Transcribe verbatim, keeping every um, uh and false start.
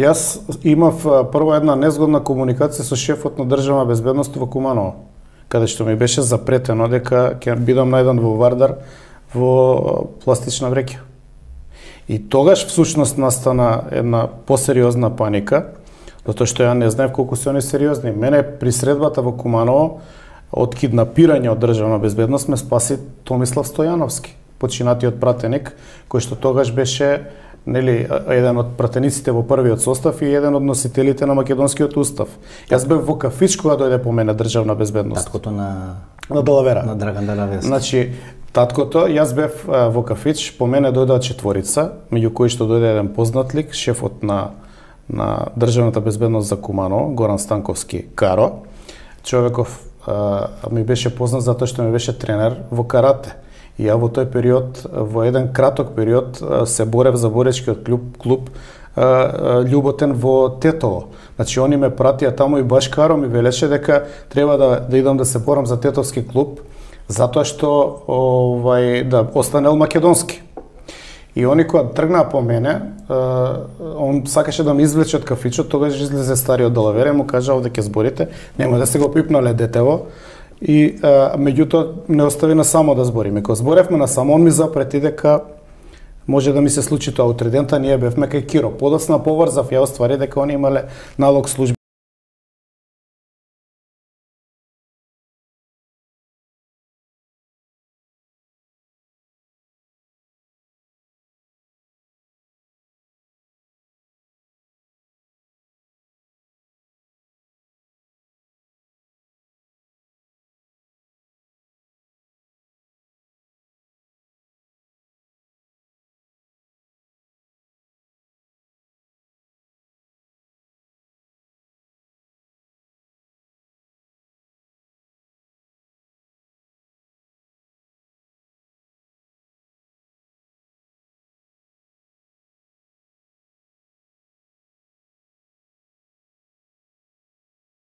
Јас имав прво една незгодна комуникација со шефот на државна безбедност во Куманово, каде што ми беше запретено дека ќе бидам најден во Вардар во пластична вреќа. И тогаш всушност настана една посериозна паника, затоа што ја не знаев колку се они сериозни. Мене при средбата во Куманово од киднапирање од државна безбедност ме спаси Томислав Стојановски, починатиот пратеник, кој што тогаш беше, нели, еден од пратениците во првиот состав и еден од носителите на македонскиот устав. Јас бев во кафич кога дојде по мене државна безбедност. Таткото на на Далавера. На Драган Далаверски. Значи, таткото, јас бев во кафич, по мене дојдоа четворица, меѓу кои што дојде еден познат лик, шефот на на државната безбедност за Куманово, Горан Станковски Каро. Човеков а, ми беше познат затоа што ми беше тренер во карате. И ја во тој период, во еден краток период, се борев за боречкиот клуб, клуб Љуботен во Тетово. Значи, они ме пратија таму и баш Каро ми велеше дека треба да, да идам да се борам за Тетовски клуб, затоа што овај, да останел македонски. И они кога тргнаа по мене, он сакаше да ме извлече од кафичот, тогаш излезе стариот Далавера и му кажа овде ќе зборите, нема да се го пипнале детево. И а, меѓутоа не остави на само да збориме. Кога зборевме на само, он ми запрети дека може да ми се случи тоа утре дента, ние бевме кај Киро. Подоцна поврзав, ја оствари дека они имале налог служби